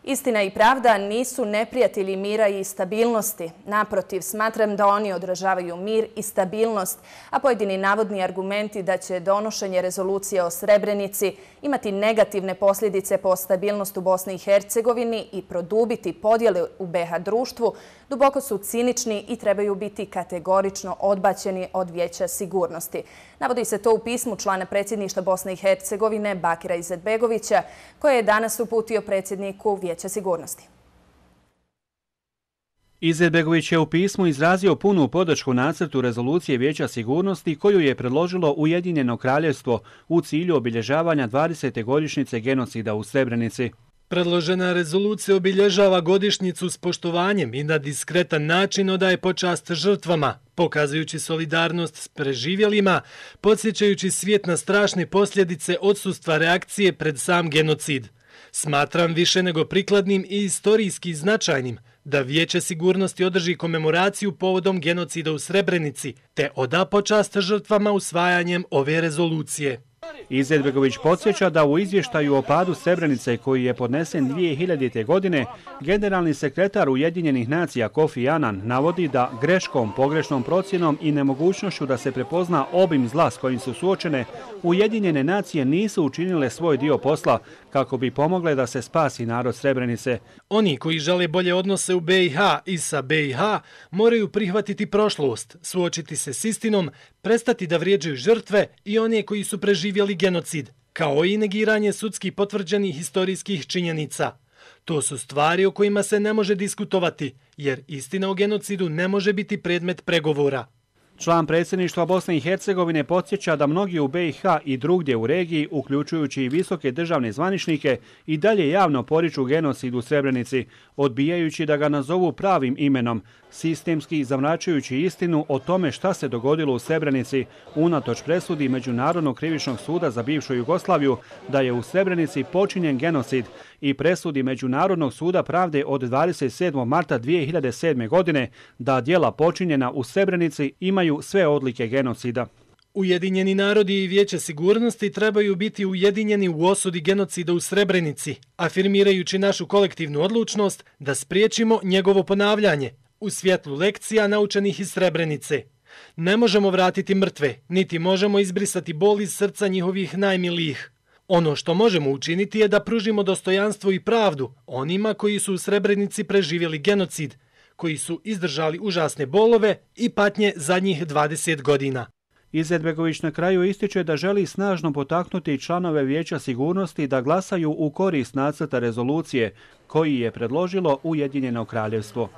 Istina i pravda nisu neprijatelji mira i stabilnosti. Naprotiv, smatram da oni odražavaju mir i stabilnost, a pojedini navodni argumenti da će donošenje rezolucije o Srebrenici imati negativne posljedice po stabilnost u Bosni i Hercegovini i produbiti podjele u BiH društvu, duboko su cinični i trebaju biti kategorično odbačeni od Vijeća sigurnosti. Navodi se to u pismu člana predsjedništva Bosne i Hercegovine Bakira Izetbegovića, koje je danas uputio predsjedniku Vijeća sigurnosti. Izetbegović je u pismu izrazio punu podršku nacrtu rezolucije Vijeća sigurnosti koju je predložilo Ujedinjeno kraljevstvo u cilju obilježavanja 20. godišnjice genocida u Srebrenici. Predložena rezolucija obilježava godišnjicu s poštovanjem i na diskretan način odaje počast žrtvama, pokazujući solidarnost s preživjelima, podsjećajući svijet na strašne posljedice odsustva reakcije pred sam genocid. Smatram više nego prikladnim i istorijski značajnim da Vijeće sigurnosti održi komemoraciju povodom genocida u Srebrenici te oda počast žrtvama usvajanjem ove rezolucije. Izetbegović podsjeća da u izvještaju o padu Srebrenice koji je podnesen 2000. godine, generalni sekretar Ujedinjenih nacija Kofi Annan navodi da greškom, pogrešnom procjenom i nemogućnošću da se prepozna obim zla s kojim su suočene, Ujedinjene nacije nisu učinile svoj dio posla kako bi pomogle da se spasi narod Srebrenice. Oni koji žele bolje odnose u BiH i sa BiH moraju prihvatiti prošlost, suočiti se s istinom, prestati da vrijeđaju žrtve i one koji su preživjeli genocid, kao i negiranje sudski potvrđenih historijskih činjenica. To su stvari o kojima se ne može diskutovati, jer istina o genocidu ne može biti predmet pregovora. Član predsjedništva Bosne i Hercegovine podsjeća da mnogi u BiH i drugdje u regiji, uključujući i visoke državne zvaničnike, i dalje javno poriču genocid u Srebrenici, odbijajući da ga nazovu pravim imenom, sistemski zamračujući istinu o tome šta se dogodilo u Srebrenici, unatoč presudi Međunarodnog krivičnog suda za bivšu Jugoslaviju da je u Srebrenici počinjen genocid i presudi Međunarodnog suda pravde od 27. marta 2007. godine da djela počinjena u Srebrenici imaju sve odlike genocida. Ujedinjeni narodi i Vijeće sigurnosti trebaju biti ujedinjeni u osudi genocida u Srebrenici, afirmirajući našu kolektivnu odlučnost da spriječimo njegovo ponavljanje u svjetlu lekcija naučenih iz Srebrenice. Ne možemo vratiti mrtve, niti možemo izbrisati bol iz srca njihovih najmilijih. Ono što možemo učiniti je da pružimo dostojanstvo i pravdu onima koji su u Srebrenici preživjeli genocid, koji su izdržali užasne bolove i patnje zadnjih 20 godina. Izetbegović na kraju ističe da želi snažno potaknuti članove Vijeća sigurnosti da glasaju u korist nacrta rezolucije koji je predložilo Ujedinjeno kraljevstvo.